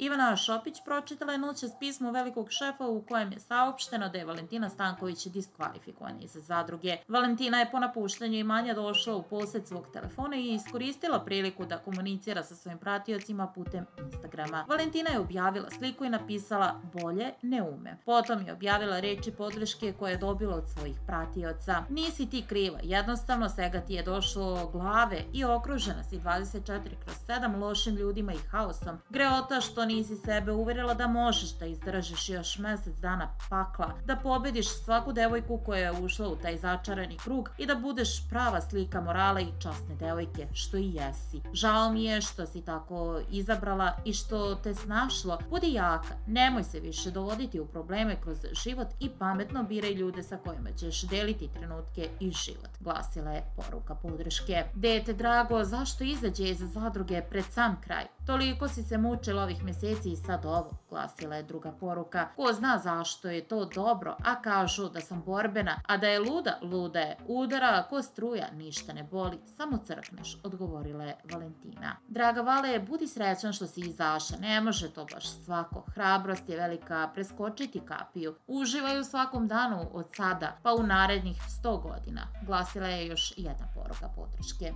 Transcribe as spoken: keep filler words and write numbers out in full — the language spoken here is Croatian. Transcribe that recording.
Ivana Šopić pročitala je noćas pismo velikog šefa u kojem je saopšteno da je Valentina Stanković diskvalifikovana iz zadruge. Valentina je po napuštanju imanja došla u posjed svog telefona i iskoristila priliku da komunicira sa svojim pratiocima putem Instagrama. Valentina je objavila sliku i napisala bolje ne ume. Potom je objavila reči podrške koje je dobila od svojih pratioca. Nisi ti kriva, jednostavno svega ti je došlo glave i okružena si dvadeset četiri kroz sedam lošim ljudima i haosom. Greota što nisi sebe uverila da možeš da izdržiš još mjesec dana pakla, da pobediš svaku devojku koja je ušla u taj začarani krug i da budeš prava slika morala i časne devojke, što i jesi. Žao mi je što si tako izabrala i što te snašlo. Budi jaka, nemoj se više dovoditi u probleme kroz život i pametno biraj ljude sa kojima ćeš deliti trenutke i život, glasila je poruka podrške. Dete drago, zašto izađe iz zadruge pred sam kraj? Toliko si se mučila ovih mjeseci i sad ovo, glasila je druga poruka. Ko zna zašto je to dobro, a kažu da sam borbena, a da je luda, luda je. Udara ko struja, ništa ne boli, samo crkneš, odgovorila je Valentina. Draga Vale, budi srećan što si izaša, ne može to baš svako. Hrabrost je velika, preskočiti kapiju. Uživaj u svakom danu od sada, pa u narednih sto godina, glasila je još jedna poruka podrške.